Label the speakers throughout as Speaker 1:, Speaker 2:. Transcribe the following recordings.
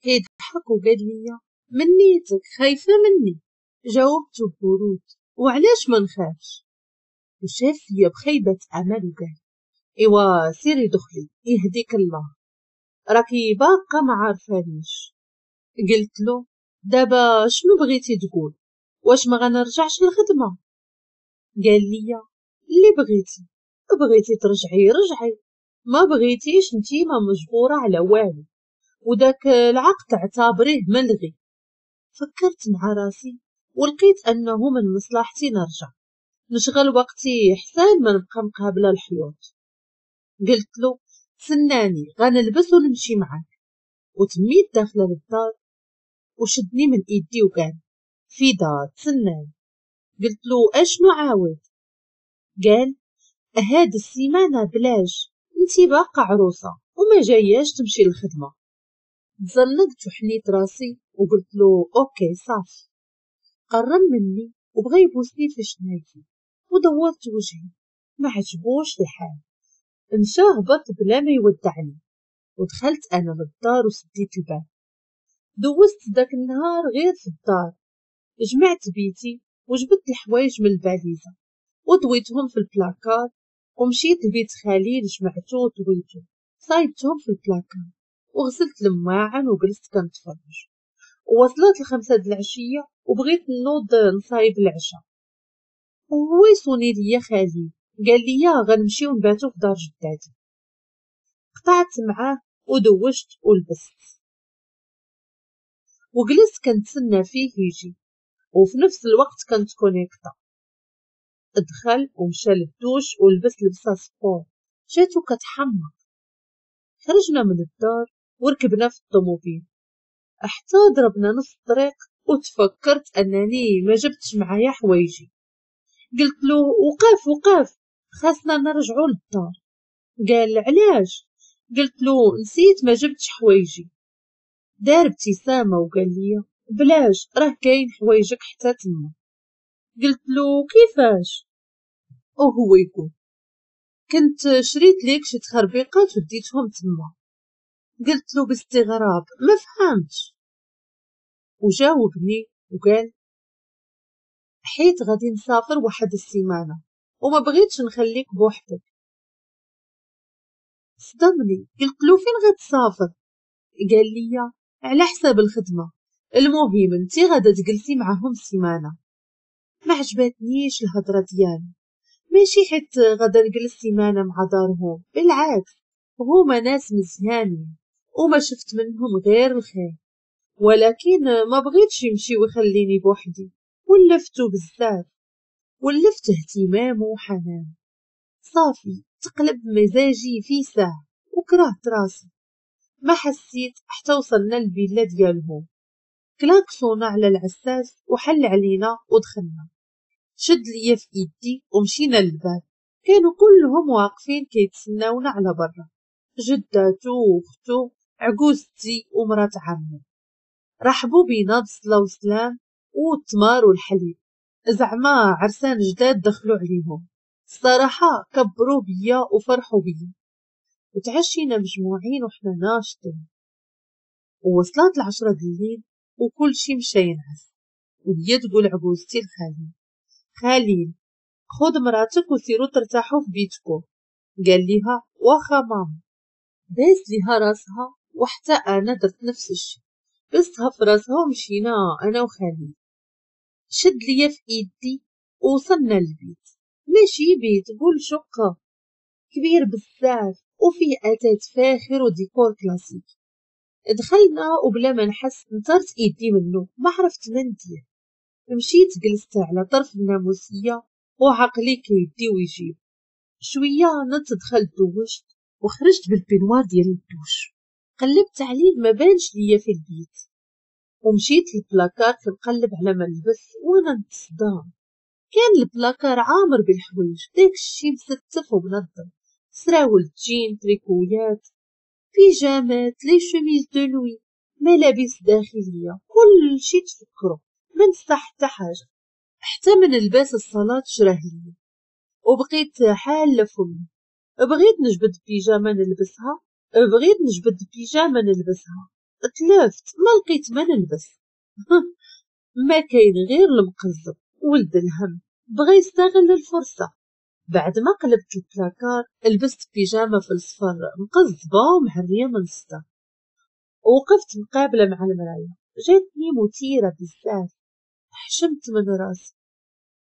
Speaker 1: كيضحك وقال لي من نيتك خايفة مني؟ جاوبته ببرود وعلاش ما نخافش؟ وشاف فيا بخيبه امل وقال ايوا سيري دخلي يهديك الله، راكي باقا ما عارفانيش. قلت له دابا شنو بغيتي تقول؟ واش ما غنرجعش للخدمة؟ قال لي اللي بغيتي، بغيتي ترجعي رجعي، ما بغيتيش انتي ما مجبوره على والو، وداك العقد اعتبريه ملغي. فكرت مع راسي ولقيت انه من مصلحتي نرجع نشغل وقتي حسان ما نبقى مقابله الحيوط. قلت له تسناني غنلبس ونمشي معاك. وتميت داخله للدار وشدني من ايدي وقال فيدا تسناني. قلت له اشنو عاود؟ قال هاد السيمانة بلاش، انتي باقا عروسه وما جاياش تمشي للخدمة. تزنقت وحنيت راسي وقلت له okay صافي. قرب مني وبغى يبوسني في شنايفي ودورت وجهي، ما عجبوش الحال، مشى هبط بلا ما يودعني. ودخلت انا للدار وسديت الباب. دوزت داك النهار غير في الدار، جمعت بيتي وجبت الحوايج من الباليزه وطويتهم في البلاكار، ومشيت لبيت خليل جمعتو وطويتو صايبتهم في البلاكار وغسلت المواعن وجلست كنتفرج. ووصلت 5 د العشية وبغيت نوض نصايب العشاء، وهو يصوني ليا خالي قال لي غنمشيو نباتو في دار جداتي. قطعت معاه ودوشت ولبست وجلست كنتسنى فيه يجي، وفي نفس الوقت كنت connectée. دخل ومشى للدوش ولبس لبسه sport جاتو كتحمق. خرجنا من الدار وركبنا في الطوموبيل حتى ضربنا نص الطريق وتفكرت انني ما جبتش معايا حوايجي. قلت له وقف وقف خاصنا نرجعوا للدار. قال علاش؟ قلت له نسيت ما جبتش حوايجي. دار ابتسامة وقال لي بلاش راه كاين حوايجك حتى تما. قلت له كيفاش؟ وهو يقول كنت شريت ليك شي تخربيقات وديتهم تما. قلت له باستغراب ما فهمتش. وجاوبني وقال حيت غادي نسافر واحد السيمانة وما بغيتش نخليك بوحدك. صدمني. قلت له فين غتسافر؟ قال لي على حساب الخدمة، المهم انتي غادا تجلسي معاهم سيمانه. ما عجبتنيش الهضرة ديالو، ماشي حيت غادا نجلس سيمانه مع دارهم، بالعكس هما ناس مزيانين وما شفت منهم غير الخير، ولكن ما بغيتش يمشي ويخليني بوحدي. ولفتو بزاف، ولفت اهتمامه وحنانه. صافي تقلب مزاجي في ساعة وكرهت راسي. ما حسيت حتى وصلنا للفيلا ديالهم. كلاكسونا على العساس وحل علينا ودخلنا. شد ليا في ايدي ومشينا للباب. كانوا كلهم واقفين كيتسناونا على برا، جداتو واختو عجوزتي ومرات عمو. رحبوا بينا بالصلاة والسلام والتمار والحليب، زعما عرسان جداد دخلوا عليهم. الصراحة كبروا بيا وفرحوا بيا، وتعشينا مجموعين وحنا ناشطين. ووصلت 10 الليل وكل شي مشى ينعس. وهي تقول عجوزتي لخليل خليل خذ مراتك وسيروا ترتاحوا في بيتكم. قال ليها واخا ماما. باس ليها راسها وحتى انا درت نفس الشيء، بستها في راسها ومشينا انا وخليل. شد ليا في ايدي ووصلنا للبيت. ماشي بيت، قول شقه كبير بزاف وفيه اثاث فاخر وديكور كلاسيك. دخلنا وبلا ما نحس نطرت ايدي منه، ما عرفت ما ندير. مشيت جلست على طرف الناموسيه وعقلي كيدي ويجيب. شوية نط دخلت دوشت وخرجت بال peignoir ديال الدوش، قلبت عليه ما بانش ليا في البيت. ومشيت للبلاكار كنقلب على ما نلبس وانا نتصدم. كان البلاكار عامر بالحوايج، داكشي مستف ومنظم، سراول جين، تريكويات، بيجامات، les chemises de nuit، ملابس داخلية، كل شي تفكرو ما نسى حتى حاجة. حتى من لباس الصلاة شراه ليا. وبقيت حاله فمي، بغيت نجبد بيجامه نلبسها، بغيت نجبد بيجامه نلبسها، تلفت ما لقيت ما نلبس. ما كاين غير المقزب ولد الهم بغى يستغل الفرصة. بعد ما قلبت البلاكار لبست بيجامة في الصفر مقزبة ومهرية من الصدر، وقفت مقابلة مع المراية. جاتني مثيرة بزاف، حشمت من راسي.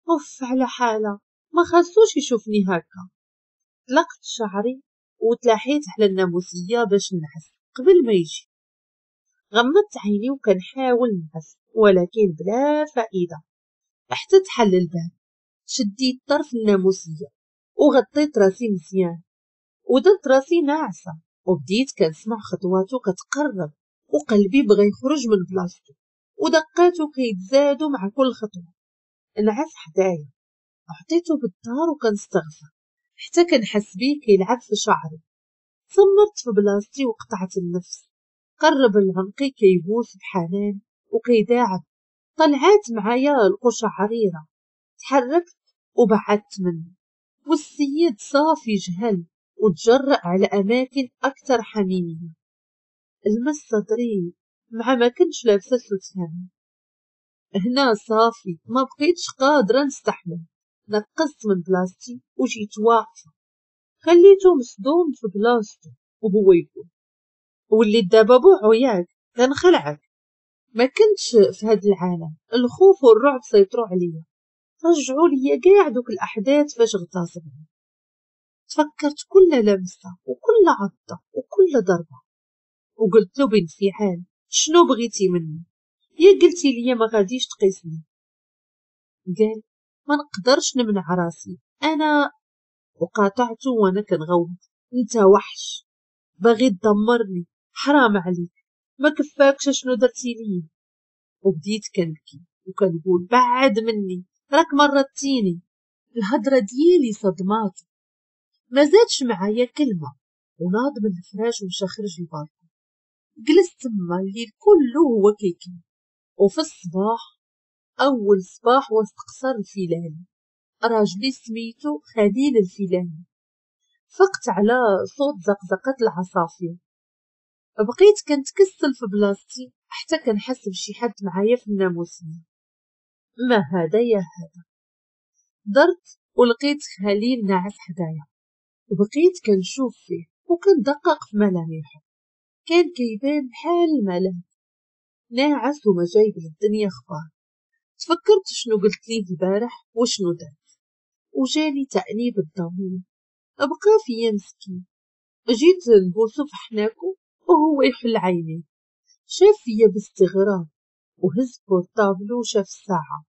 Speaker 1: اوف على حالة، ما خاصوش يشوفني هكا. طلقت شعري وتلاحيت على الناموسية باش نعس قبل ما يجي. غمضت عيني وكنحاول نعس ولكن بلا فائدة. حتى تحل الباب، شديت طرف الناموسية وغطيت راسي مزيان ودرت راسي ناعسة، وبديت كنسمع خطواته كتقرب وقلبي بغى يخرج من بلاصتو ودقاته كيتزادوا مع كل خطوة. نعس حدايا، عطيته بالدار وكنستغفر حتى كنحس بيه كيلعب في شعري. صمرت في بلاصتي وقطعت النفس. قرب لعنقي كيبوس بحنان وكيداعب. طلعات معايا القشعريرة، تحركت وبعدت منه، والسيد صافي جهل وتجرأ على أماكن أكثر حميمية. المس صدري مع ما كنتش لابسة سوتيان. هنا صافي ما بقيتش قادرة نستحمل، نقصت من بلاصتي وجيت واقفة، خليته مصدوم في بلاصته وهو يقول وليت دابا بوعو ياك كنخلعك. ما كنتش في هاد العالم، الخوف والرعب سيطروا عليا، رجعوا ليا كاع دوك الأحداث فاش اغتصبني. تفكرت كل لمسة وكل عضة وكل ضربة، وقلت له بانفعال شنو بغيتي مني؟ يا قلتي لي ما غاديش تقيسني. قال ما نقدرش نمنع راسي انا. وقاطعته وانا كنغوت انت وحش باغي تدمرني، حرام عليك، ما كفاكش شنو درتي لي. وبديت كنبكي وكنقول بعد مني راك مرضتيني. الهضره ديالي صدماتو، ما زادش معايا كلمه، وناض من الفراش ومشى خرج البالكون. جلست تما الليل كله هو كيكمل. وفي الصباح، اول صباح وسط قصر الفيلاني، راجلي سميتو خليل الفيلاني، فقت على صوت زقزقة العصافير. بقيت كنتكسل في بلاصتي حتى كنحس بشي حد معايا في الناموسية. ما هذا يا هذا؟ درت ولقيت خليل ناعس حدايا، وبقيت كنشوف فيه وكندقق في ملامحه. كان كيبان بحال الملاك، ناعس وما جايب للدنيا اخبار. تفكرت شنو قلت ليه البارح وشنو درت، وجاني تأنيب الضمير. بقى فيا مسكين. جيت نبوسو في حناكو وهو يحل عينيه، شاف فيا باستغراب وهز portable و وشاف الساعة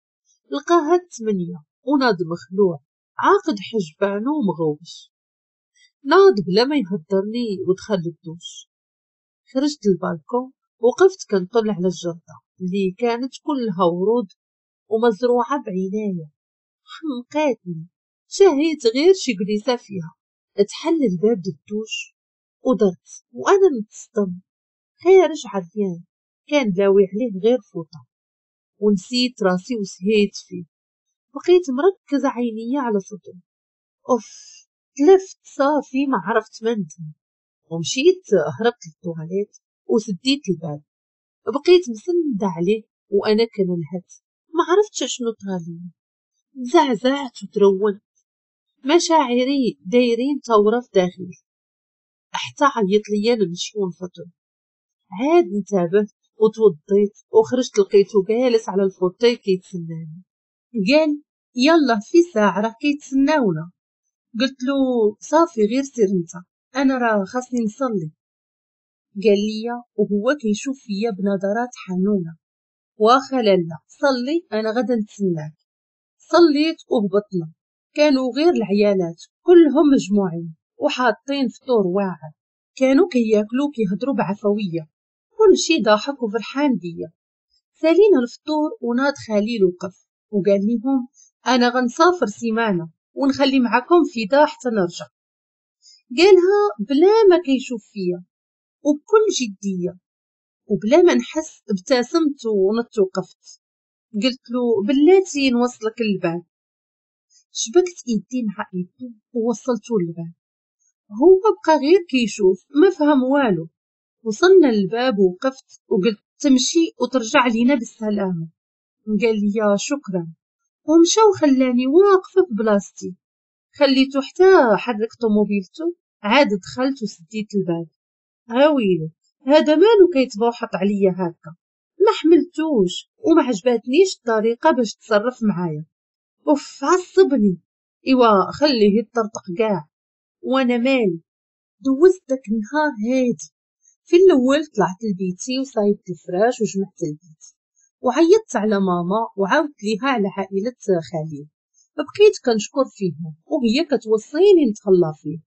Speaker 1: لقاها 8، وناض مخلوع عاقد حجبانو ومغوش. ناض بلا ما يهدرني ودخل للدوش. خرجت للبالكون وقفت كنطل على الجردة اللي كانت كلها ورود ومزروعة بعناية. حمقاتني، شهيت غير شي جليسة فيها. تحل الباب للدوش ودرت وانا نتصدم، خارج عريان كان لاوي عليه غير فوطة، ونسيت راسي وسهيت فيه. بقيت مركزة عينيا على صدره. اوف تلفت صافي ما عرفت ما ندير، ومشيت هربت للطواليت وسديت الباب. بقيت مسندة عليه وانا كنلهت، ما عرفتش شنو طرالي. تزعزعت وترونت، مشاعري دايرين ثورة في داخلي. حتى عيط ليا نمشي ونفطر. عاد انتبهت وتوضيت وخرجت، لقيته جالس على ال fauteuil كيتسناني. قال يلا في ساعة راه كيتسناونا. قلت له صافي غير سير انت، انا راه خاصني نصلي. قال لي وهو كيشوف فيا بنظرات حنونة، واخا لالا صلي انا غدا نتسناك. صليت وهبطنا. كانوا غير العيالات كلهم مجموعين وحاطين فطور واعر، كانوا كياكلوا كيهضروا بعفوية، كل شي ضاحك وفرحان بيا. سالينا الفطور وناض خليل وقف وقال لهم انا غنسافر سيمانه ونخلي معكم فدا حتى نرجع. قالها بلا ما كيشوف فيا وبكل جديه، وبلا ما نحس ابتسمت ونط وقفت. قلت له بلاتي نوصلك للباب. شبكت ايدي مع ايدو ووصلته للباب. هو بقى غير كيشوف ما فهم والو، وصلنا للباب ووقفت وقلت تمشي وترجع لينا بالسلامة. قال لي شكرا ومشى وخلاني واقفة في بلاصتي. خليته حتى حرك طوموبيلته، عاد دخلت وسديت الباب. هاويلي هذا مالو كيتبوحط عليا هكا؟ ما حملتوش وما عجبتنيش الطريقة باش تصرف معايا. اوف عصبني. ايوا خليه يطرطق كاع وانا مالي. دوزت داك النهار هادي. في الاول طلعت لبيتي وصايبت الفراش وجمعت البيت وعيطت على ماما وعاودت ليها على عائلة خليل. بقيت كنشكر فيهم وهي كتوصيني نتهلا فيه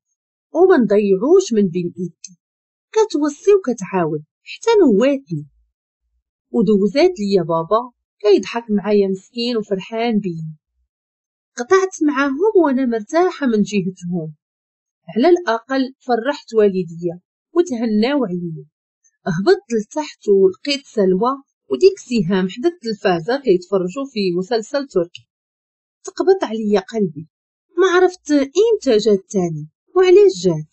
Speaker 1: وما نضيعوش من بين ايدي. كتوصي وكتعاود حتى نواتني. ودوزات ليا بابا كيضحك معايا مسكين وفرحان بيا. قطعت معاهم وانا مرتاحة من جهتهم، على الاقل فرحت والديا وتهناو عليا. هبطت لتحت ولقيت سلوى وديك سهام حدا التلفازه كيتفرجوا في مسلسل تركي. تقبط عليا قلبي، ما عرفت امتى جات تاني وعلاش جات.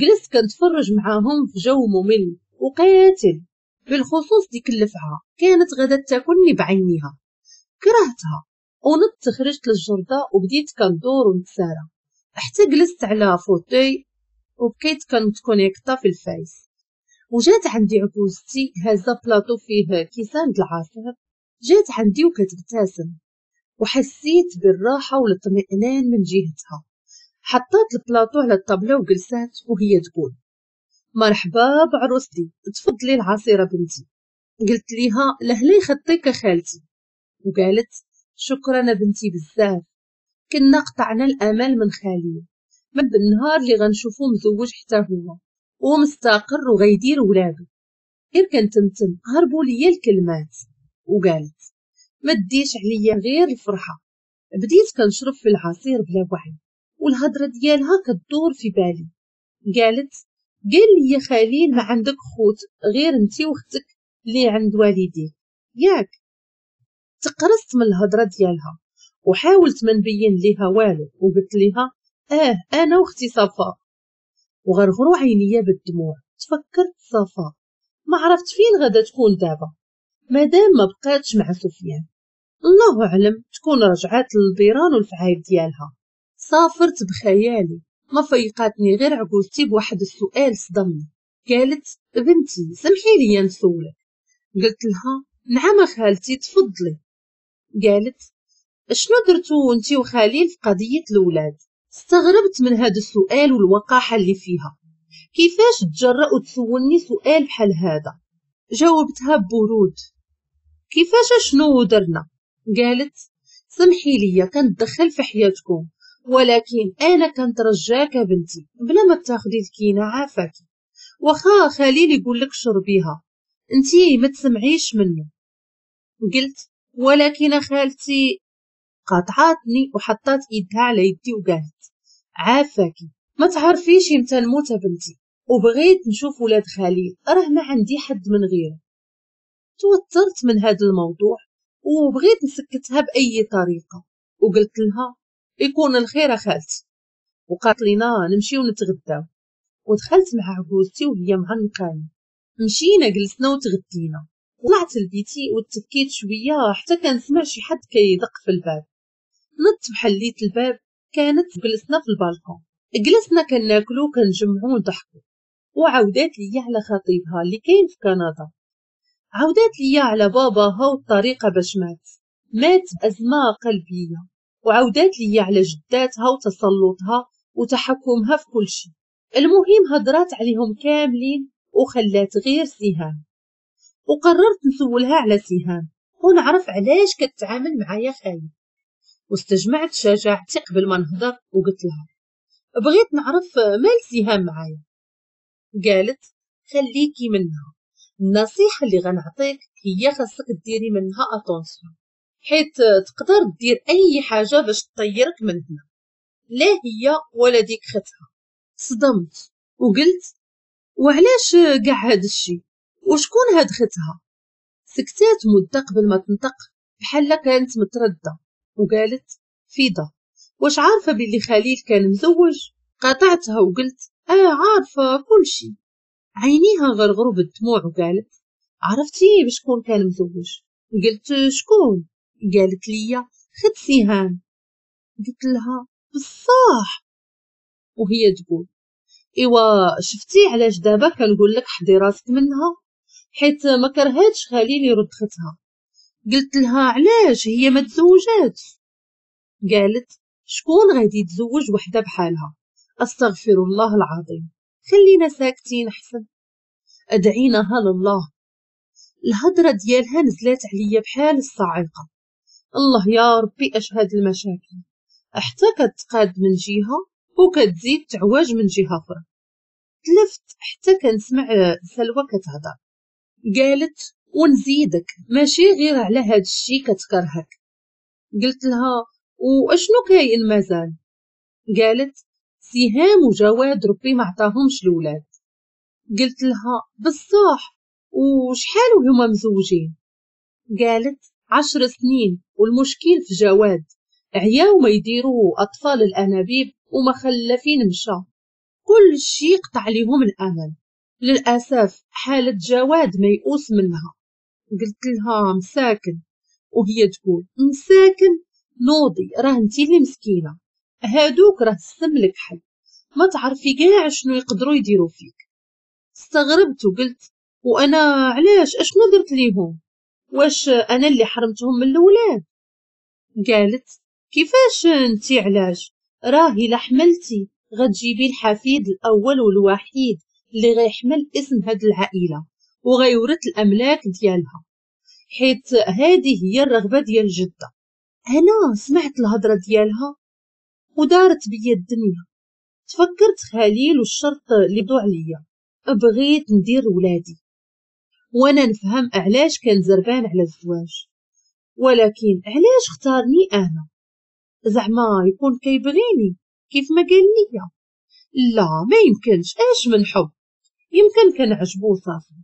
Speaker 1: جلست كنتفرج معاهم في جو ممل وقاتل، بالخصوص ديك اللفعه كانت غادا تاكلني بعينيها. كرهتها ونضت خرجت للجردة وبديت كندور ونتسارى حتى جلست على fauteuil وبقيت كنتكونيكتا في الفايس. وجات عندي عجوزتي هازه بلاطو فيه كيسان د العصير. جات عندي وكتبتسم وحسيت بالراحة والاطمئنان من جهتها. حطات البلاطو على الطابله وجلسات وهي تقول مرحبا بعروستي، تفضلي العصيره بنتي. قلت ليها لهلا يخطيك خالتي، وقالت شكرا بنتي بزاف. كنا قطعنا الامل من خالي من بالنهار اللي غنشوفو مزوج حتى هو ومستقر وغيدير ولادو. غير كنتمتم هربوا ليا الكلمات. وقالت ما ديش عليا غير الفرحة. بديت كنشرب في العصير بلا وعي والهضره ديالها كدور في بالي. قالت قال لي خليل ما عندك خوت غير انتي واختك اللي عند والديك ياك. تقرصت من الهضرة ديالها وحاولت ما نبين ليها والو وقلت ليها انا واختي صفاء. وغرغروا عينيا بالدموع. تفكرت صفاء، ما عرفت فين غادا تكون دابا مادام ما بقاتش مع سفيان. الله اعلم تكون رجعات للبيران والفعايل ديالها. سافرت بخيالي، ما فيقاتني غير عجوزتي بواحد السؤال صدمني. قالت بنتي سمحي لي نسولك. قلت لها نعم خالتي تفضلي. قالت شنو درتو انتي وخليل في قضية الاولاد؟ استغربت من هذا السؤال والوقاحه اللي فيها. كيفاش تجرأ وتسولني سؤال بحال هذا؟ جاوبتها ببرود كيفاش شنو درنا؟ قالت سمحي لي كنتدخل في حياتكم، ولكن انا كنترجاك بنتي بلا ما تاخدي الكينه عافاك. واخا خليل يقول لك شربيها انتي ما تسمعيش منه. قلت ولكن خالتي. قاطعاتني وحطات ايدها على يدي وقالت عافاكي ما تعرفيش امتى نموت بنتي، وبغيت نشوف ولاد خليل راه ما عندي حد من غيره. توترت من هذا الموضوع وبغيت نسكتها باي طريقه وقلت لها يكون الخير خالتي. وقالت لينا نمشيو نتغداو. ودخلت مع عجوزتي وهي معنقاني. مشينا جلسنا وتغدينا. طلعت لبيتي وتكيت شوية حتى كنسمع شي حد كيدق في الباب. نضت وحليت الباب، كانت جلسنا في البالكون. جلسنا كناكلو كنجمعو ونضحكو. وعاودات ليا على خطيبها اللي كاين في كندا. عاودات ليا على باباها والطريقة باش مات بازمه قلبية. وعاودات ليا على جداتها وتسلطها وتحكمها في كل شيء. المهم هضرات عليهم كاملين وخلات غير سهام. وقررت نسولها على سهام ونعرف علاش كتعامل معايا خايب. واستجمعت شجاعتي قبل ما نهضر وقلت لها بغيت نعرف مال سهام معايا. قالت خليكي منها، النصيحة اللي غنعطيك هي خاصك ديري منها attention، حيت تقدر دير اي حاجة باش تطيرك من هنا، لا هي ولا ديك ختها. صدمت وقلت وعلاش كاع هاد الشي وشكون هاد ختها؟ سكتات مده قبل ما تنطق بحال كانت متردة وقالت فيضه واش عارفه باللي خليل كان مزوج؟ قاطعتها وقلت عارفه كل شي. عينيها غرغروا بالدموع وقالت عرفتي بشكون كان مزوج؟ قلت شكون؟ قالت لي خد سهام. قلت لها بصح؟ وهي تقول ايوا شفتي علاش دابا كنقول لك حضي راسك منها، حيت ما كرهاتش خليل يرد ختها. قلت لها علاش هي ما تزوجاتش؟ قالت شكون غادي يتزوج وحده بحالها؟ استغفر الله العظيم، خلينا ساكتين احسن، ادعيناها لله. الهضرة ديالها نزلات عليا بحال الصاعقة. الله يا ربي اش هاد المشاكل، حتى كتقاد من جهة وكتزيد تعواج من جهة اخرى. تلفت حتى كنسمع سلوى كتهضر، قالت ونزيدك ماشي غير على هاد الشي كتكرهك. قلت لها واشنو كاين مازال؟ قالت سهام وجواد ربي ما عطاهمش الولاد. قلت لها بصح وشحال وهما مزوجين؟ قالت 10 سنين، والمشكل في جواد عياو ما يديروا اطفال الانابيب وما خلفين مشى، كل شي قطع ليهم الامل. للاسف حاله جواد ميؤوس منها. قلت لها مساكن، وهي تقول مساكن نوضي راه انتي اللي مسكينه، هادوك راه السم الكحل، ما تعرفي كاع شنو يقدروا يديروا فيك. استغربت وقلت وانا علاش اشنو درت ليهم؟ واش انا اللي حرمتهم من الاولاد؟ قالت كيفاش انتي علاش؟ راه الا حملتي غتجيبي الحفيد الاول والوحيد اللي غيحمل اسم هاد العائلة وغيورث الاملاك ديالها، حيت هذه هي الرغبة ديال الجدة. انا سمعت الهضرة ديالها ودارت بيا الدنيا. تفكرت خليل والشرط اللي بدو عليا، بغيت ندير ولادي وانا نفهم علاش كان زربان على الزواج، ولكن علاش اختارني انا؟ زعما يكون كيبغيني كيف ما قال لي؟ لا ما يمكنش، اش من حب؟ يمكن كان عجبو صافي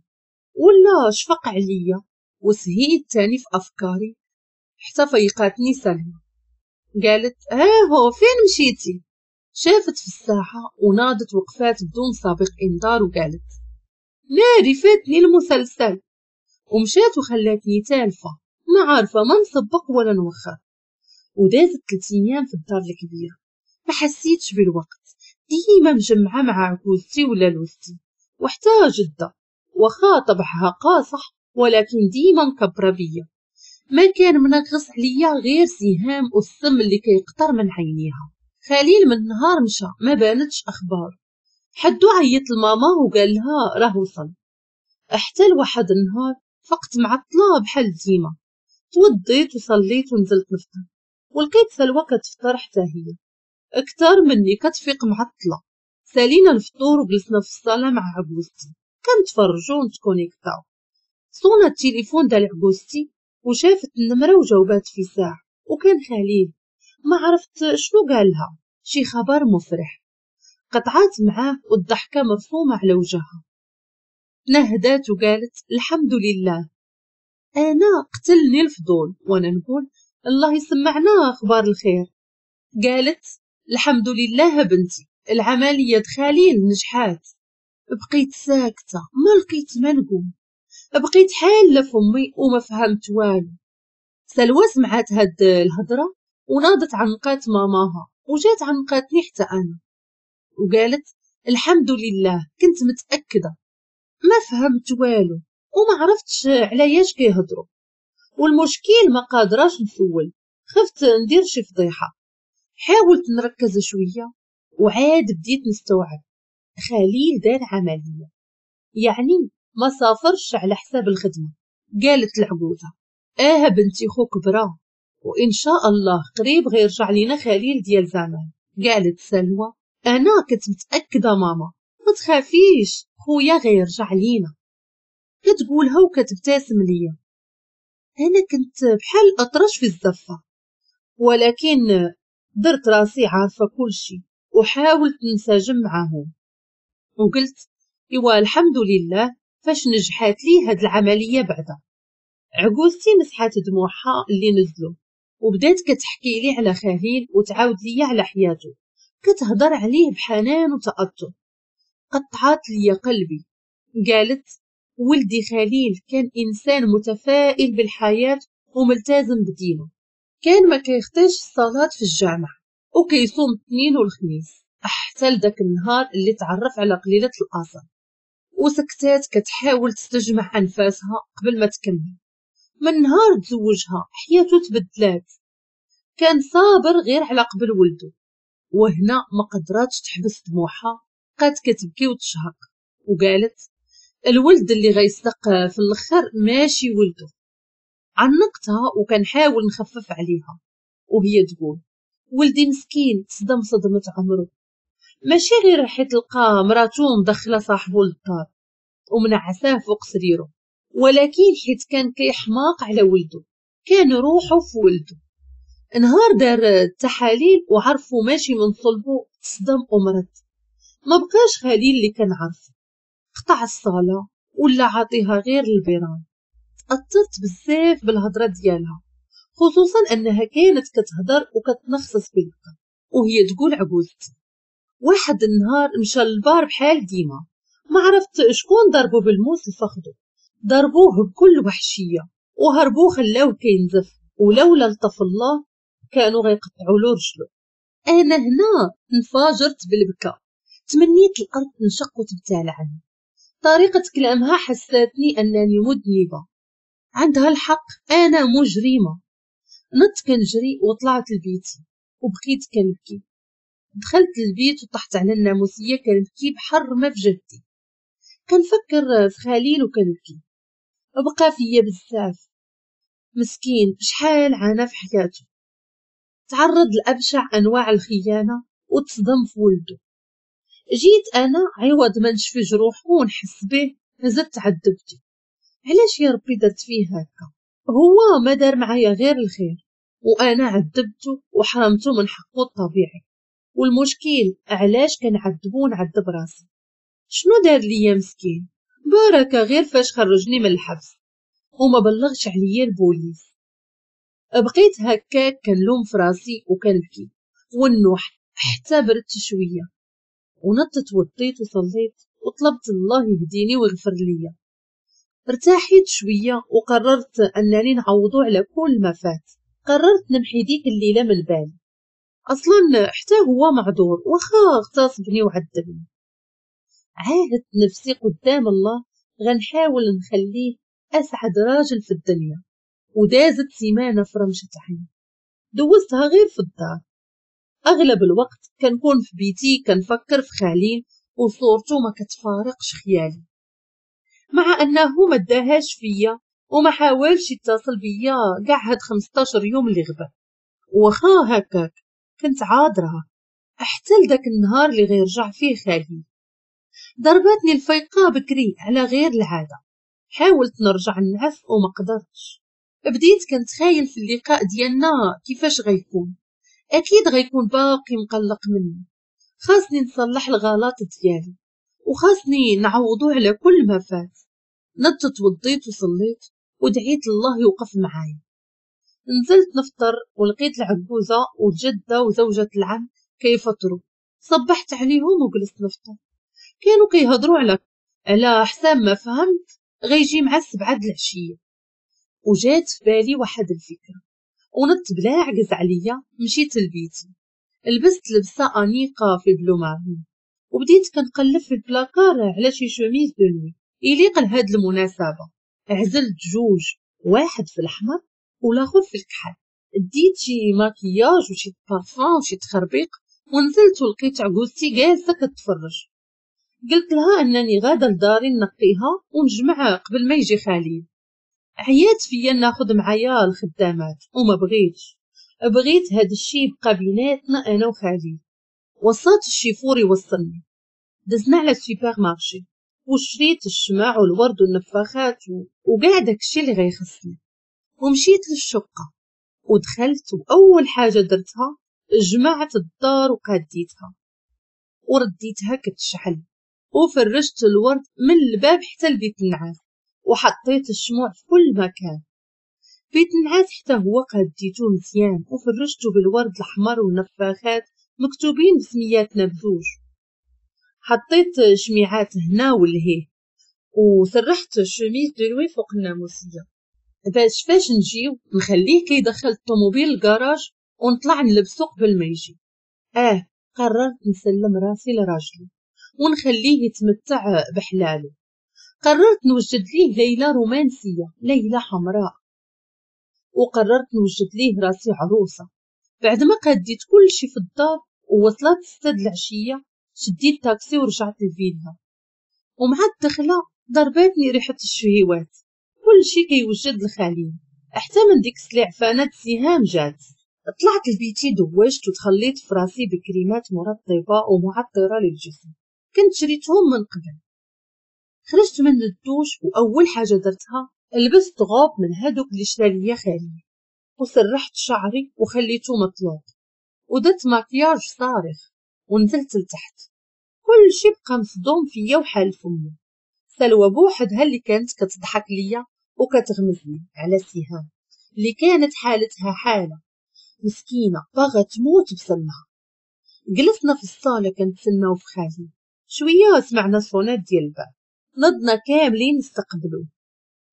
Speaker 1: ولا شفق عليا. وسهيت تاني في افكاري حتى فيقاتني سلمى، قالت هاهو فين مشيتي؟ شافت في الساحة وناضت وقفات بدون سابق انذار وقالت ناري فاتني المسلسل، ومشات وخلاتني تالفه ما عارفه ما نسبق ولا نوخر. ودازت 3 ايام في الدار الكبيرة، ما حسيتش بالوقت، ديما مجمعة مع عكوزتي ولا لوستي وحتى جده، واخا طبعها قاصح ولكن ديما مكبره بيا. ما كان منغص عليا غير سهام والسم اللي كيقطر من عينيها. خليل من نهار مشى ما بانتش اخبار، حدو عيط لماما وقال لها راه وصل. حتى لواحد النهار فقت معطلة بحال ديما، توضيت وصليت ونزلت نفطر، ولقيت سلوى كتفطر حتى هي اكثر مني كتفيق معطلة. سالينا الفطور وجلسنا في الصاله مع عجوزتي كنتفرجوا ونتكونيكتاو. صونا التليفون ديال عجوزتي وشافت النمرة وجاوبات في ساعة، وكان خليل. ما عرفت شنو قالها، شي خبر مفرح. قطعات معاه والضحكه مرسومه على وجهها. نهدات وقالت الحمد لله. انا قتلني الفضول وانا نقول الله يسمعنا اخبار الخير. قالت الحمد لله بنتي، العملية خليل نجحات. بقيت ساكته ما لقيت ما نقول، بقيت حاله فمي وما فهمت والو. سلوى سمعت هاد الهضرة وناضت عنقات ماماها وجات عنقاتني حتى انا وقالت الحمد لله، كنت متاكدة. ما فهمت والو وما عرفتش علاش كيهضروا، والمشكل ما قادراش نسول، خفت ندير شي فضيحة. حاولت نركز شوية وعاد بديت نستوعب. خليل دار عملية، يعني ما سافرش على حساب الخدمة. قالت العجوزة اه بنتي خوك برا، وان شاء الله قريب غيرجع لينا خليل ديال زمان. قالت سلوى انا كنت متاكدة ماما، ما تخافيش خويا غيرجع لينا. كتقولها وكتبتسم ليا. انا كنت بحال الاطرش في الزفه، ولكن درت راسي عارفه كل شيء وحاولت ننسجم معاهم، وقلت ايوا الحمد لله فاش نجحات لي هاد العملية. بعدا عجوزتي مسحات دموعها اللي نزلوا وبدات كتحكي لي على خليل وتعاود لي على حياته، كتهضر عليه بحنان وتأثر. قطعات لي قلبي، قالت ولدي خليل كان إنسان متفائل بالحياة وملتزم بدينه، كان ما كيخطيش الصلاة في الجامع وكيصوم الاثنين والخميس حتى لذاك النهار اللي تعرف على قليلة الأصل. وسكتات كتحاول تستجمع أنفاسها قبل ما تكمل. من نهار تزوجها حياته تبدلات، كان صابر غير على قبل ولده. وهنا ما قدراتش تحبس دموعها، بقات كتبكي وتشهق وقالت الولد اللي غيصدق في الاخر ماشي ولده. عنقتها وكنحاول نخفف عليها وهي تقول ولدي مسكين تصدم صدمة عمره، ماشي غير حيت لقى مراتو مدخله صاحبو للدار ومنعساه فوق سريره، ولكن حيت كان كيحماق على ولده، كان روحه في ولده. نهار دار التحاليل وعرفوا ماشي من صلبه تصدم ومرض، ما بقاش خليل اللي كان عارفه، قطع الصلاة ولا عاطيها غير البيران. تأثرت بزاف بالهضرة ديالها، خصوصا أنها كانت كتهضر وكتنخصص بالبكا وهي تقول عجوزتي. واحد النهار مشى للبار بحال ديما، ما عرفت شكون ضربو بالموس لفخدو، ضربوه بكل وحشية وهربوه خلاوه كينزف، ولولا لطف الله كانوا غيقطعوا له رجلو. انا هنا انفجرت بالبكا، تمنيت الارض تنشق وتبتلعني. طريقة كلامها حساتني انني مذنبة، عندها الحق، انا مجرمة. نط كنجري وطلعت لبيتي وبقيت كنبكي. دخلت البيت وطحت على الناموسية كنبكي بحر ما في جهدي، كنفكر في خليل وكنبكي. بقى فيا بزاف، مسكين شحال عانى في حياته، تعرض لأبشع أنواع الخيانة وتصدم في ولده. جيت أنا عوض ما نشفي جروحه ونحس به زدت عذبته. علاش يا ربي درت فيه هكا؟ هو ما دار معايا غير الخير وأنا عذبته وحرمته من حقه الطبيعي. والمشكل علاش كنعذبو ونعذب راسي؟ شنو دار ليا مسكين؟ بركة غير فاش خرجني من الحبس وما بلغش عليا البوليس. بقيت هكاك كنلوم في راسي وكنبكي والنوح حتى بردت شوية، ونطت وطيت وصليت وطلبت الله يهديني ويغفر ليا. ارتاحيت شوية وقررت انني نعوضو على كل ما فات. قررت نمحي ديك الليلة من بالي، اصلا حتى هو معذور واخا اغتصبني وعذبني. عاهدت نفسي قدام الله غنحاول نخليه اسعد راجل في الدنيا. ودازت سيمانه في رمشة عين، دوزتها غير في الدار. اغلب الوقت كنكون في بيتي كنفكر في خليل وصورته ما كتفارقش خيالي، مع انه ما داهاش فيا وما حاولش يتصل بيا كاع هاد 15 يوم اللي غبا. واخا هكاك كنت عاذرها حتى لذاك النهار اللي غيرجع فيه خليل. ضربتني الفيقه بكري على غير العادة، حاولت نرجع نعس وما قدرتش. بديت كنتخيل في اللقاء ديالنا كيفاش غيكون، اكيد غيكون باقي مقلق مني. خاصني نصلح الغلط ديالي وخاصني نعوضو على كل ما فات. نطت وضيت وصليت ودعيت الله يوقف معايا. نزلت نفطر ولقيت العجوزة والجدة وزوجة العم كيفطروا. صبحت عليهم وجلست نفطر. كانوا كيهضروا على حساب ما فهمت غيجي مع 7 العشية. وجات في بالي واحد الفكرة ونط بلا عجز عليا. مشيت لبيتي، لبست لبسه انيقه في bleu marine وبديت كنقلب في البلاكار على شي chemise de nuit يليق لهاد المناسبة. عزلت جوج، واحد في الاحمر والاخر في الكحل. ديت شي ماكياج وشي بارفان وشي تخربيق ونزلت ولقيت عجوزتي جالسة كتفرج. قلت لها انني غاده لداري نقيها ونجمعها قبل ما يجي خليل. عيات فيا ناخذ معايا الخدامات وما بغيتش، بغيت هاد الشي يبقى بيناتنا انا وخليل. وصلت الشيفور يوصلني، دزنا على ال supermarché وشريت الشماع والورد والنفاخات وكاع داكشي اللي غيخصني. ومشيت للشقه ودخلت، واول حاجة درتها جمعت الدار وقاديتها ورديتها كتشعل، وفرشت الورد من الباب حتى لبيت النعاس، وحطيت الشموع في كل مكان. بيت النعاس حتى هو قاديته مزيان وفرشته بالورد الاحمر والنفاخات مكتوبين بسمياتنا بزوج. حطيت شميعات هنا ولهيه، وسرحت chemise de nuit فوق الناموسيه باش فاش نجيو نخليه كيدخل الطوموبيل للكراج ونطلع نلبسو قبل ما يجي. قررت نسلم راسي لراجلي ونخليه يتمتع بحلاله. قررت نوجد ليه ليلة رومانسية، ليلة حمراء، وقررت نوجد ليه راسي عروسة. بعد ما قديت كل شي في الدار ووصلت 6 العشية، شديت تاكسي ورجعت للفيلا. ومع الدخلة ضرباتني ريحة الشهيوات، كل شي كيوجد لخليل، حتى من ديك السلعفانة سهام جات. طلعت لبيتي دوشت وتخليت في راسي بكريمات مرطبة ومعطرة للجسم كنت شريتهم من قبل. خرجت من الدوش وأول حاجة درتها لبست غوب من هادوك اللي شرا ليا خالي، وسرحت شعري وخليته مطلوق، ودرت ماكياج صارخ ونزلت لتحت. كل شي بقى مصدوم فيا وحال فمي. سلوى بوحدها اللي كانت كتضحك ليا وكتغمزني على سهام اللي كانت حالتها حالة مسكينة باغا تموت بسمها. جلسنا في الصالة كنتسناو في خالي. شوية سمعنا صونات ديال الباب، نضنا كاملين نستقبلوه.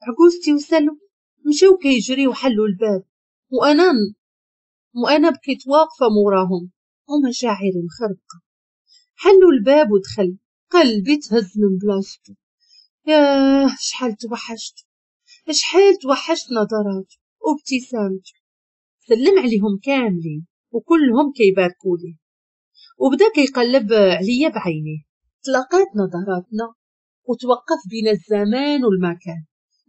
Speaker 1: عجوزتي وسلوى مشاو كيجريو وحلوا الباب، وانا بقيت واقفة موراهم ومشاعري مخربقة. حلوا الباب ودخل، قلبي تهز من بلاصتو. ياه شحال توحشت، شحال توحشت نظراته وابتسامته. سلم عليهم كاملين وكلهم كيباركوا ليه، وبدا كيقلب عليا بعينيه. تلاقات نظراتنا وتوقف بين الزمان والمكان،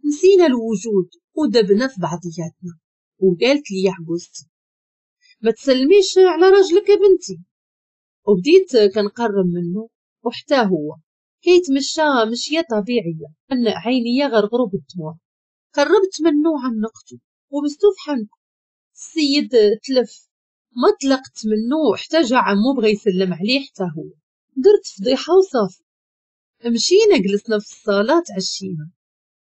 Speaker 1: نسينا الوجود ودبنا في بعضياتنا. وقالت لي عجوزتي ما تسلميش على راجلك يا بنتي. وبديت كنقرب منه وحتى هو كيتمشى مشيه طبيعية، ان عينيا غرغروا بالدموع. قربت منه وعنقته وبستو في حنكو. السيد تلف، ما طلقت منه حتى جا عمو بغى يسلم عليه حتى هو. درت فضيحة وصافي. مشينا جلسنا في الصاله تعشينا،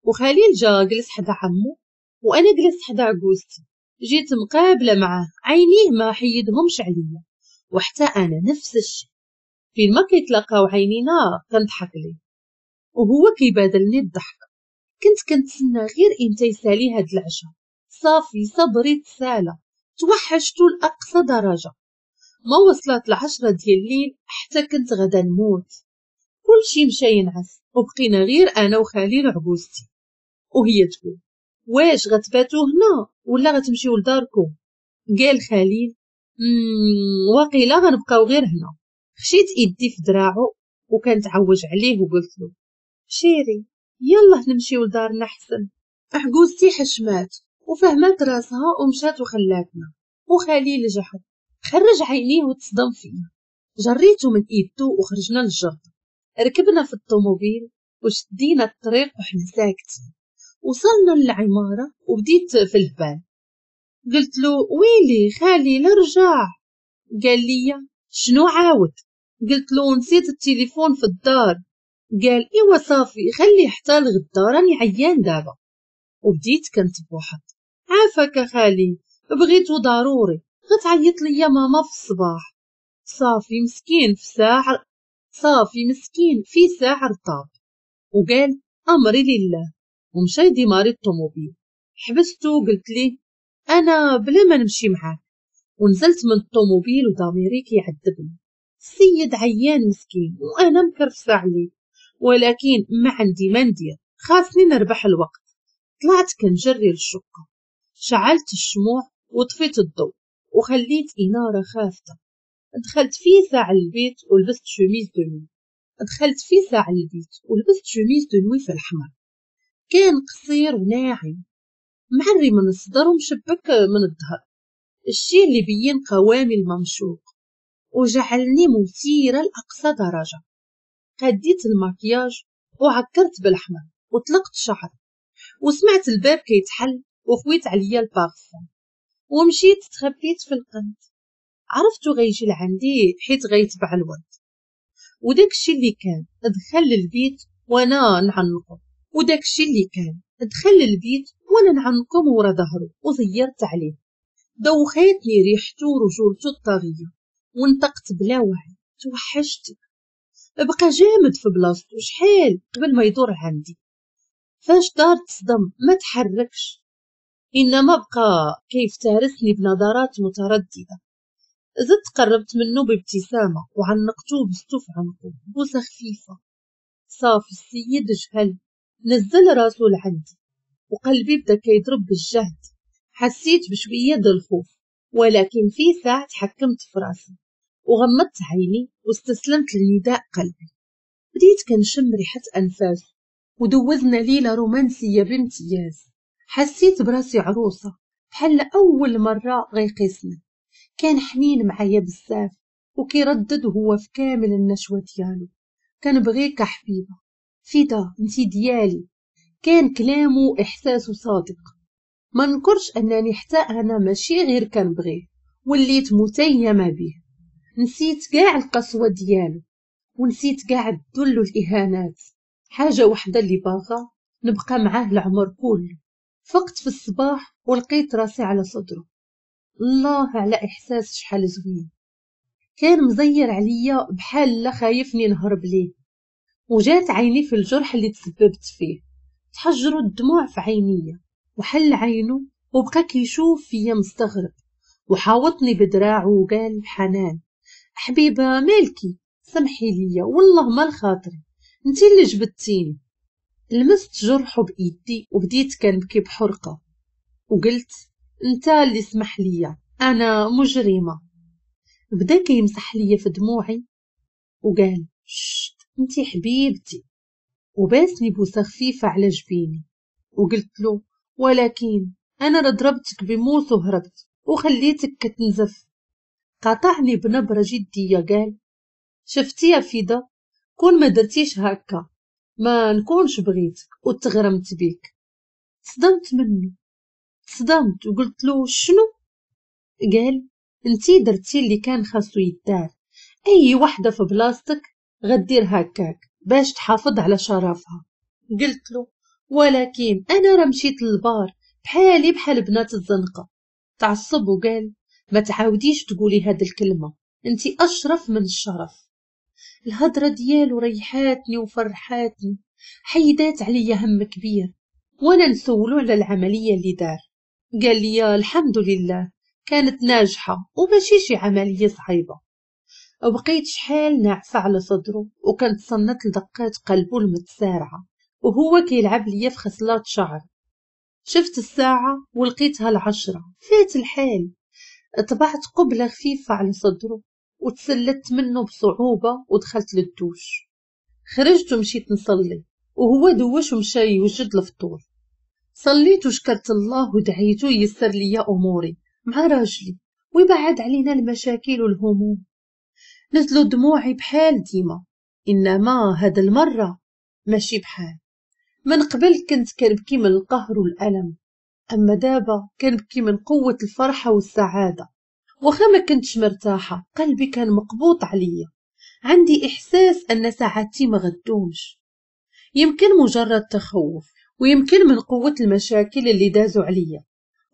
Speaker 1: وخليل جا جلس حدا عمو وانا جلست حدا عجوزتي. جيت مقابله معاه، عينيه ما حيدهمش عليا، وحتى انا نفس الشيء. فين ما كيتلاقاو عينينا كنضحك ليه وهو كيبادلني الضحك. كنت كنتسنى غير امتى يسالي هاد العشاء. صافي صبري تسالى، توحشتو لاقصى درجه. ما وصلت 10 ديال الليل حتى كنت غدا نموت. كلشي مشى ينعس وبقينا غير انا وخليل وعجوزتي. وهي تقول واش غتباتو هنا ولا غتمشيو لداركم؟ قال خليل واقيلا غنبقاو غير هنا. خشيت ايدي في دراعو وكانت عوج عليه وقلت له شيري يلا نمشيو لدارنا احسن. عجوزتي حشمات وفهمات راسها ومشات وخلاتنا. وخليل جحد خرج عينيه وتصدم فيا. جريته من ايدو وخرجنا للجردة. ركبنا في الطوموبيل وشدينا الطريق وحنا ساكتين. وصلنا للعمارة وبديت في البال. قلت له ويلي خالي رجع. قال لي شنو عاود؟ قلت له نسيت التليفون في الدار. قال ايوا صافي خلي حتى لغدا راني عيان دابا. وبديت كنتبوحط. عافاك خالي بغيتو ضروري، غتعيط ليا ماما في الصباح. صافي مسكين في ساعة، صافي مسكين في ساعة رطاب. وقال امري لله ومشى يديماري الطوموبيل. حبستو وقلت ليه انا بلا ما نمشي معاك. ونزلت من الطوموبيل وضميري كيعذبني. السيد عيان مسكين وانا مكرفسه عليه، ولكن ما عندي ما ندير، خاصني نربح الوقت. طلعت كنجري للشقه، شعلت الشموع وطفيت الضوء وخليت انارة خافته. دخلت في ساعة البيت ولبست chemise de nuit. دخلت في ساعة البيت ولبست chemise de nuit في الحمر، كان قصير وناعم معري من الصدر ومشبك من الظهر، الشيء اللي بين قوامي الممشوق وجعلني مثيرة لأقصى درجة. قديت المكياج وعكرت بالأحمر وطلقت شعري، وسمعت الباب كيتحل وخويت عليا البارفان ومشيت تخبيت في القنت. عرفتو غيجي لعندي حيت غيتبع الورد، وداك الشي اللي كان دخل للبيت وانا نعنقو، وداك الشي اللي كان دخل للبيت وانا نعنقو مورا ظهرو وزيرت عليه. دوخاتني ريحتو ورجولتو الطاغية ونطقت بلا وعي توحشتك. بقى جامد في بلاصتو شحال قبل ما يدور عندي. فاش دار تصدم، ما تحركش، انما بقى كيفترسني بنظرات مترددة. زدت قربت منه بابتسامة وعنقته وبستو في عنقه بوسه خفيفة. صافي السيد جهل، نزل راسو لعندي وقلبي بدا كيضرب بالجهد. حسيت بشوية د الخوف، ولكن في ساعة تحكمت في راسي وغمضت عيني واستسلمت لنداء قلبي. بديت كنشم ريحة أنفاسه ودوزنا ليلة رومانسية بامتياز. حسيت براسي عروسة بحال أول مرة غيقيسني. كان حنين معايا بزاف وكيردد وهو في كامل النشوة ديالو، كنبغيك حبيبة فدا، انتي ديالي. كان كلامه وإحساسه صادق. ما نكرش أنني حتى أنا ماشي غير كنبغيه، وليت متيمة به. نسيت كاع القسوة ديالو ونسيت كاع الذل والإهانات. حاجة وحدة اللي باغا نبقى معاه العمر كله. فقت في الصباح ولقيت راسي على صدره. الله على إحساس شحال زوين. كان مزير عليا بحال لا خايفني نهرب ليه. وجات عيني في الجرح اللي تسببت فيه، تحجروا الدموع في عينيا. وحل عينه وبقى كيشوف فيا مستغرب، وحاوطني بدراعه وقال بحنان: حبيبه مالكي، سمحي ليا والله ما الخاطري، انتي اللي جبدتيني. لمست جرحه بايدي وبديت كنبكي بحرقه وقلت: انت اللي سمح ليا، انا مجرمه. بدا كيمسح ليا في دموعي وقال: شت انتي حبيبتي، وباسني بوسه خفيفة على جبيني. وقلت له: ولكن انا ضربتك بموس وهربت وخليتك كتنزف. قاطعني بنبره جدية قال: شفتي يا فدا، كون ما درتيش هكا ما نكونش بغيتك وتغرمت بيك. تصدمت منه، تصدمت وقلت له: شنو؟ قال: انتي درتي اللي كان خاصو يدار، اي وحده في بلاصتك غدير هكاك باش تحافظ على شرفها. قلت له: ولكن انا راه مشيت للبار بحالي بحال بنات الزنقة. تعصب وقال: ما تعاوديش تقولي هاد الكلمة، انتي اشرف من الشرف. الهضرة ديالو ريحاتني وفرحاتني، حيدات عليا هم كبير. وانا نسولو على العملية اللي دار، قال لي: الحمد لله كانت ناجحة وماشي شي عملية صعيبة. بقيت شحال ناعسه على صدره وكنتصنت لدقات قلبه المتسارعه وهو كيلعب ليا في خصلات شعر. شفت الساعة ولقيتها 10، فات الحال. طبعت قبله خفيفة على صدره وتسلت منه بصعوبة ودخلت للدوش. خرجت ومشيت نصلي وهو دوش ومشى يوجد الفطور. صليت وشكرت الله ودعيته ييسر لي اموري مع راجلي ويبعد علينا المشاكل والهموم. نزلوا دموعي بحال ديما، انما هاد المرة ماشي بحال من قبل. كنت كنبكي من القهر والالم، اما دابا كنبكي من قوة الفرحة والسعادة. واخا ما كنتش مرتاحة، قلبي كان مقبوط عليا. عندي احساس ان سعادتي ما غدومش، يمكن مجرد تخوف، ويمكن من قوة المشاكل اللي دازوا عليا.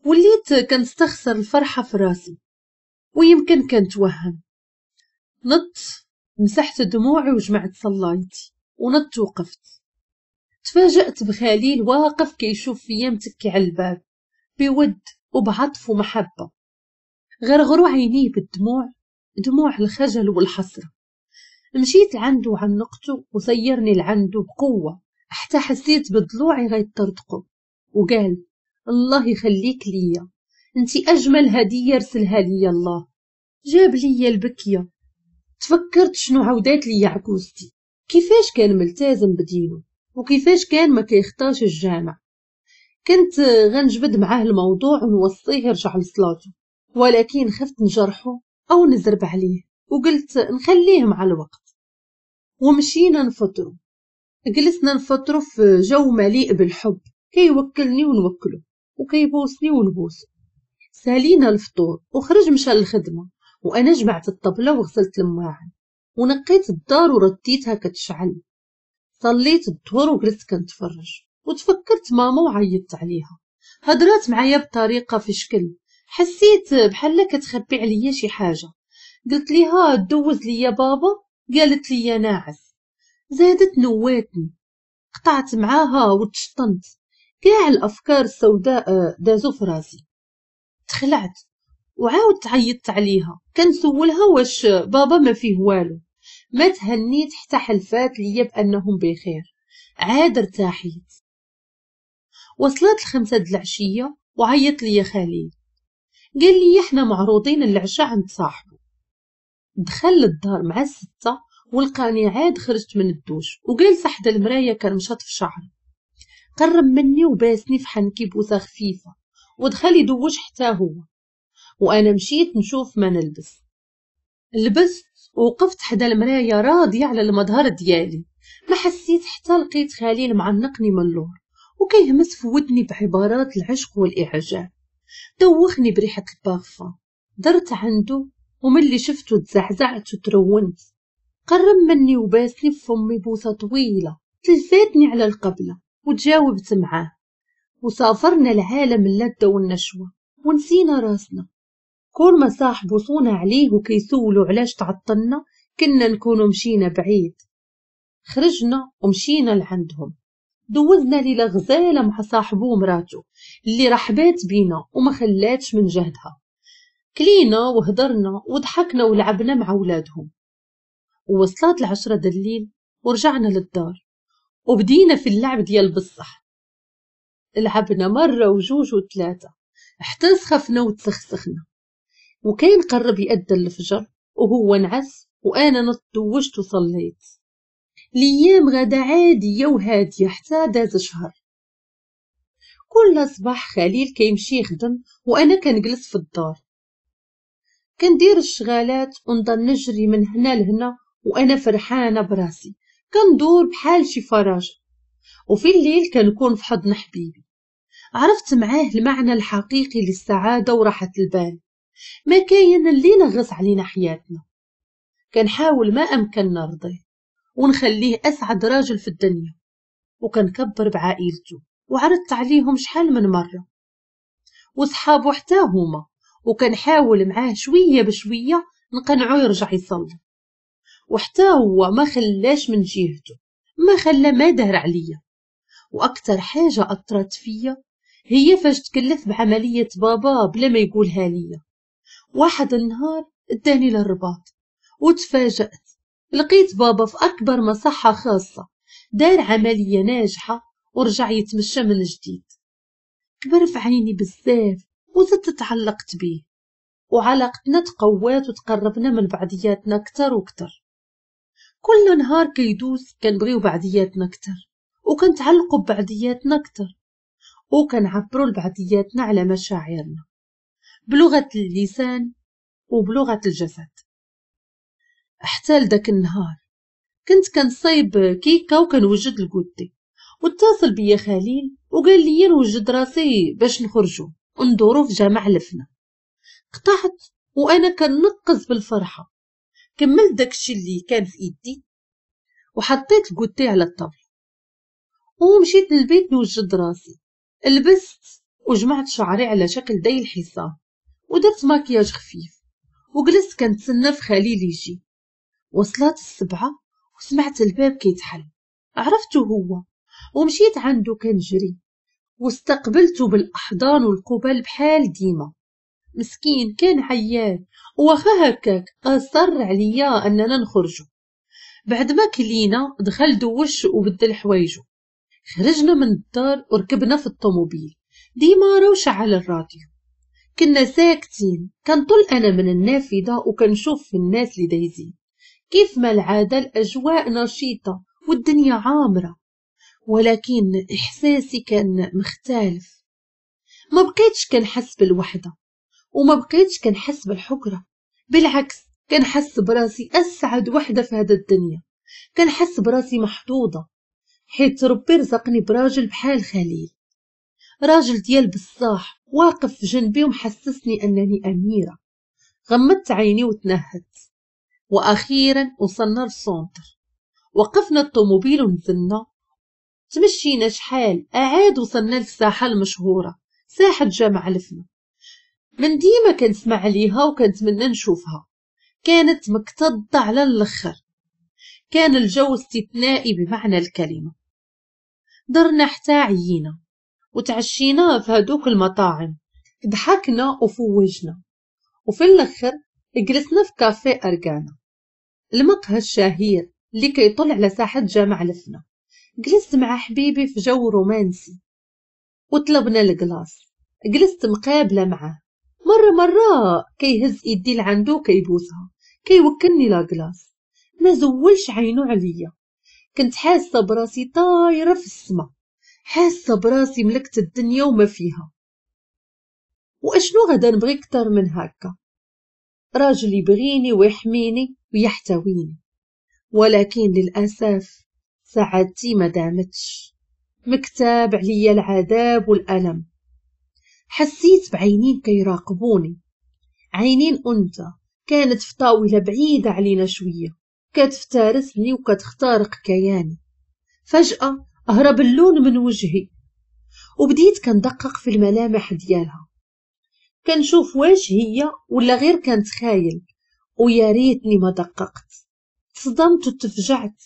Speaker 1: وليت كنستخسر الفرحة في راسي، ويمكن كنتوهم. نط مسحت دموعي وجمعت صلايتي ونط وقفت. تفاجأت بخليل واقف كيشوف فيا متكي على الباب بود وبعطف ومحبة. غرغروا عينيه بالدموع، دموع الخجل والحسرة. مشيت لعنده وعنقته وسيرني لعنده بقوة حتى حسيت بضلوعي غيطرطقوا، وقال: الله يخليك ليا، انتي اجمل هدية رسلها ليا الله. جاب ليا البكية. تفكرت شنو عودات ليا عكوزتي، كيفاش كان ملتزم بدينه وكيفاش كان ما كيخطاش الجامع. كنت غنجبد معاه الموضوع ونوصيه يرجع لصلاته، ولكن خفت نجرحه او نزرب عليه، وقلت نخليه مع الوقت. ومشينا نفطرو، جلسنا نفطرو في جو مليء بالحب، كيوكلني ونوكله وكيبوسني ونبوسه. سالينا الفطور وخرج مشى للخدمة، وانا جمعت الطبلة وغسلت المواعن ونقيت الدار ورديتها كتشعل. صليت الظهر وجلست كنتفرج وتفكرت ماما وعيطت عليها. هضرات معايا بطريقة في شكل، حسيت بحال كتخبي عليا شي حاجة. قلت ليها دوز ليا بابا، قالت لي ناعس. زادت نواتني، قطعت معاها وتشطنت. كاع الافكار السوداء دازو في راسي. تخلعت وعاودت عيطت عليها كنسولها واش بابا ما فيه والو. ما تهنيت حتى حلفات ليا بانهم بخير. عاد ارتاحيت. وصلت 5 د العشية وعيط ليا خليل، قال لي احنا معروضين العشاء عند صاحبه. دخل للدار مع 6 ولقاني عاد خرجت من الدوش وجالسه حدا المراية كنمشط في شعري. قرب مني وباسني في حنكي بوسه خفيفة ودخل يدوش حتى هو، وانا مشيت نشوف ما نلبس. لبست ووقفت حدا المراية راضية على المظهر ديالي. ما حسيت حتى لقيت خليل معنقني من اللور وكيهمس في ودني بعبارات العشق والاعجاب. دوخني بريحه البارفان. درت عنده وملي شفته تزعزعت وترونت. قرب مني وباسني في فمي بوسه طويلة تلفاتني على القبلة وتجاوبت معاه، وسافرنا لعالم اللذة والنشوة ونسينا راسنا. كل ما صاحبو صونا عليه وكيسولو علاش تعطلنا كنا نكونو مشينا بعيد. خرجنا ومشينا لعندهم، دوزنا ليلة غزاله مع صاحبو ومراتو اللي رحبات بينا وما خلاتش من جهدها. كلينا وهضرنا وضحكنا ولعبنا مع ولادهم. ووصلت 10 د الليل ورجعنا للدار وبدينا في اللعب ديال بصح. لعبنا مرة وجوج وثلاثة حتى سخفنا وتسخسخنا، وكان قرب يأذن الفجر وهو نعس وأنا نط دوشت وصليت. الأيام غدا عادية وهادية حتى داز شهر. كل صباح خليل كيمشي يخدم وأنا كنجلس في الدار كندير الشغالات ونضل نجري من هنا لهنا وأنا فرحانة براسي، كندور بحال شي فراجة. وفي الليل كنكون في حضن حبيبي. عرفت معاه المعنى الحقيقي للسعادة وراحة البال. ما كاين اللي نغص علينا حياتنا. كنحاول ما أمكن نرضيه ونخليه أسعد راجل في الدنيا، وكنكبر بعائلته وعرضت عليهم شحال من مرة وصحابه حتى هما، وكنحاول معاه شوية بشوية نقنعو يرجع يصلي. وحتى هو ما خلاش من جهته، ما خلى ما دار عليا. واكثر حاجة اثرت فيا هي فاش تكلف بعملية بابا بلا ما يقولها ليا. واحد النهار اداني للرباط وتفاجأت، لقيت بابا في اكبر مصحه خاصة دار عملية ناجحة ورجع يتمشى من جديد. كبر في عيني بزاف وزدت تعلقت بيه، وعلاقتنا تقوات وتقربنا من بعضياتنا اكثر واكثر. كل نهار كيدوز كنبغيو بعضياتنا اكثر وكنتعلقوا ببعضياتنا اكثر وكنعبروا لبعضياتنا على مشاعرنا بلغة اللسان وبلغة الجسد. حتى لذاك النهار كنت كنصايب كيكة وكنوجد ال goûter، واتصل بيا خليل وقال لي نوجد راسي باش نخرجوا وندورو في جامع لفنا. قطعت وانا كنقز بالفرحه. كملت داكشي اللي كان في ايدي وحطيت ال goûter على الطابله ومشيت للبيت نوجد راسي. لبست وجمعت شعري على شكل ديل الحصان ودرت ماكياج خفيف وجلست كنتسنى في خليل يجي. وصلت 7 وسمعت الباب كيتحل، عرفته هو ومشيت عنده كنجري واستقبلته بالاحضان والقبل بحال ديما. مسكين كان عيان وخا هكاك اصر عليا اننا نخرجوا. بعد ما كلينا دخل دوش وبدل حوايجو. خرجنا من الدار وركبنا في الطوموبيل ديما وشعل الراديو. كنا ساكتين، كنطل انا من النافذة وكنشوف في الناس اللي دايزين. كيف ما العادة الاجواء نشيطه والدنيا عامرة، ولكن احساسي كان مختلف. ما بقيتش كنحس بالوحدة وما بقيتش كنحس بالحكره، بالعكس كنحس براسي اسعد وحده في هذا الدنيا. كنحس براسي محظوظة حيت ربي رزقني براجل بحال خليل، راجل ديال بصاح واقف في جنبي ومحسسني انني اميره. غمضت عيني وتنهدت. واخيرا وصلنا لل centre، وقفنا الطوموبيل ونزلنا. تمشينا شحال اعاد وصلنا للساحه المشهورة، ساحة جامع لفنا. من ديما كنسمع عليها وكنتمنى نشوفها، كانت مكتظه على الاخر. كان الجو استثنائي بمعنى الكلمة. درنا حتى عيينا وتعشينا في هادوك المطاعم، ضحكنا وفوجنا، وفي الاخر جلسنا في كافيه أرجانا، المقهى الشهير اللي كيطل على ساحة جامع لفنا. جلست مع حبيبي في جو رومانسي وطلبنا ال glace. جلست مقابلة معاه، مرة مرة كيهز يدي لعندو كيبوسها، كيوكلني la glace، ما زولش عينو عليا. كنت حاسة براسي طايرة في السما، حاسة براسي ملكت الدنيا وما فيها. واشنو غادا نبغي اكثر من هكا؟ راجل يبغيني ويحميني ويحتويني. ولكن للأسف سعادتي ما دامتش، مكتاب عليا العذاب والألم. حسيت بعينين كيراقبوني، عينين أنثى كانت في طاولة بعيدة علينا شوية، كتفترسني وكتخترق كياني. فجأة هرب اللون من وجهي وبديت كندقق في الملامح ديالها، كنشوف واش هي ولا غير كنتخايل، ويا ريتني ما دققت. تصدمت وتفجعت،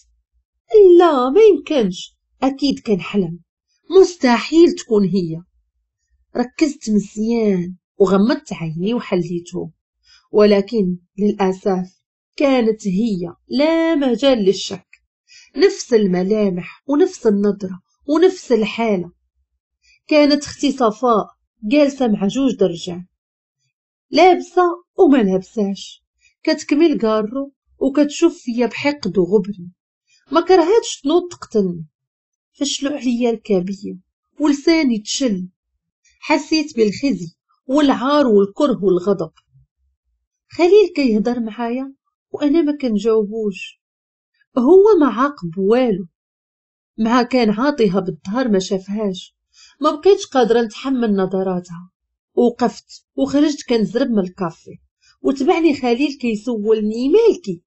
Speaker 1: لا ما يمكنش، اكيد كنحلم، مستحيل تكون هي. ركزت مزيان وغمضت عيني وحليته، ولكن للاسف كانت هي، لا مجال للشك. نفس الملامح ونفس النظرة ونفس الحالة. كانت اختي صفاء جالسة مع جوج درجات، لابسة وما لابساش، كتكمل كارو وكتشوف فيا بحقد وغبن. ما كرهتش تنوض تقتلني. فشلو عليا الكابية ولساني تشل. حسيت بالخزي والعار والكره والغضب. خليل كيهضر معايا وانا ما كنجاوبوش، هو ما عاقب والو، مع كان عاطيها بالظهر ما شافهاش. ما بقيتش قادرة نتحمل نظراتها، وقفت وخرجت كنزرب من الكافي، وتبعني خليل كيسولني مالكي،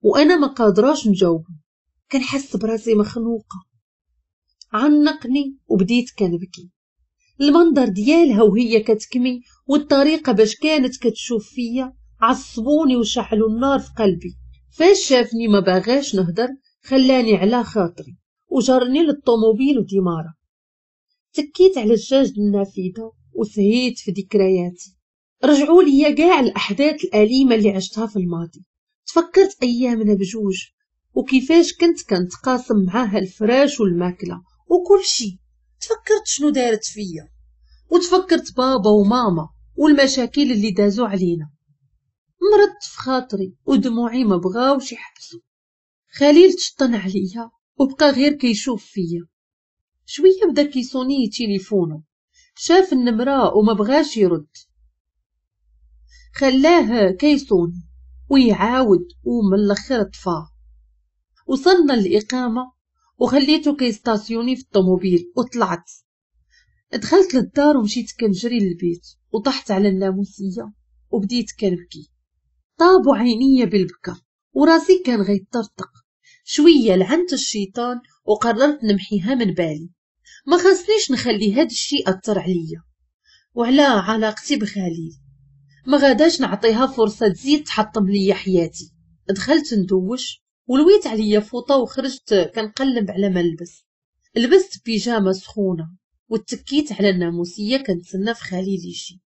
Speaker 1: وانا ما قادراش نجاوبه، كنحس براسي مخنوقه. عنقني وبديت كنبكي. المنظر ديالها وهي كتكمي والطريقة باش كانت كتشوف فيا عصبوني وشعلوا النار في قلبي. فاش شافني ما باغاش نهدر خلاني على خاطري وجرني للطوموبيل وديمارة. تكيت على الجاج النافذة وسهيت في ذكرياتي. رجعوا لي كاع الاحداث الاليمة اللي عشتها في الماضي. تفكرت ايامنا بجوج وكيفاش كنت كنتقاسم معاها الفراش والماكله وكل شيء. تفكرت شنو دارت فيا، وتفكرت بابا وماما والمشاكل اللي دازوا علينا. مرضت في خاطري ودموعي ما بغاوش يحبسوا. خليل تشطن عليا وبقى غير كيشوف فيا. شوية بدا كيصوني تليفونه، شاف النمرة وما بغاش يرد، خلاه كيصوني ويعاود ومن الاخر طفاه. وصلنا للاقامة وخليته كيستاسيوني في الطوموبيل وطلعت. دخلت للدار ومشيت كنجري للبيت وطحت على الناموسيه وبديت كنبكي. طابوا عينيا بالبكا وراسي كان غيطرطق. شوية لعنت الشيطان وقررت نمحيها من بالي. ما خاصنيش نخلي هاد الشيء اثر عليا وعلى علاقتي بخليل. ما غاداش نعطيها فرصة تزيد تحطم ليا حياتي. دخلت ندوش ولويت عليا فوطه وخرجت كنقلب على ما نلبس. لبست بيجامه سخونة وتكيت على الناموسيه كنتسنى في خليل يجي.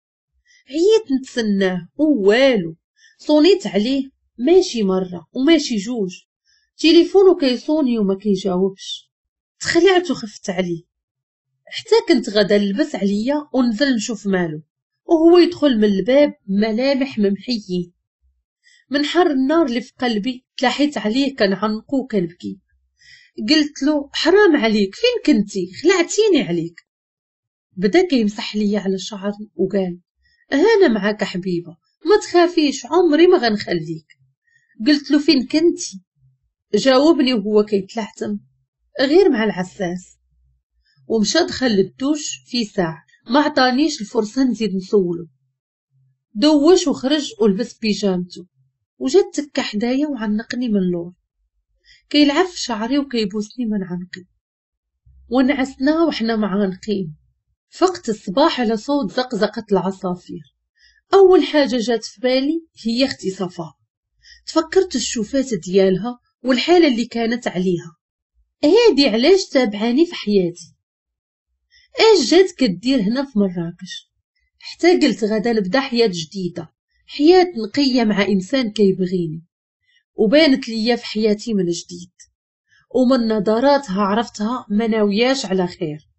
Speaker 1: عييت نتسناه ووالو. صونيت عليه ماشي مرة وماشي جوج، تليفونه كيصوني وما كيجاوبش. تخلعت وخفت عليه حتى كنت غدا نلبس عليا ونزل نشوف مالو، وهو يدخل من الباب ملامح ممحيين. من حر النار اللي في قلبي تلاحيت عليه كنعنقو وكنبكي. قلت له حرام عليك، فين كنتي؟ خلعتيني عليك. بدا كيمسح ليا على شعري وقال انا معاك حبيبه، ما تخافيش، عمري ما غنخليك. قلت له فين كنتي؟ جاوبني وهو كيتلحتم غير مع العساس، ومشى دخل للدوش في ساعة. ما عطانيش الفرصة نزيد نسولو. دوش وخرج ولبس بيجامته وجات تكا حدايا وعنقني من اللور، كيلعب في شعري وكيبوسني من عنقي. ونعسنا وحنا معانقين. فقت الصباح على صوت زقزقة العصافير. أول حاجة جات في بالي هي اختي صفاء. تفكرت الشوفات ديالها والحالة اللي كانت عليها. هادي علاش تابعاني في حياتي؟ اش جات كدير هنا في مراكش؟ حتى قلت غدا نبدا حياة جديدة، حياة نقية مع إنسان كيبغيني، وبانت ليا في حياتي من جديد، ومن نظراتها عرفتها ما ناوياش على خير.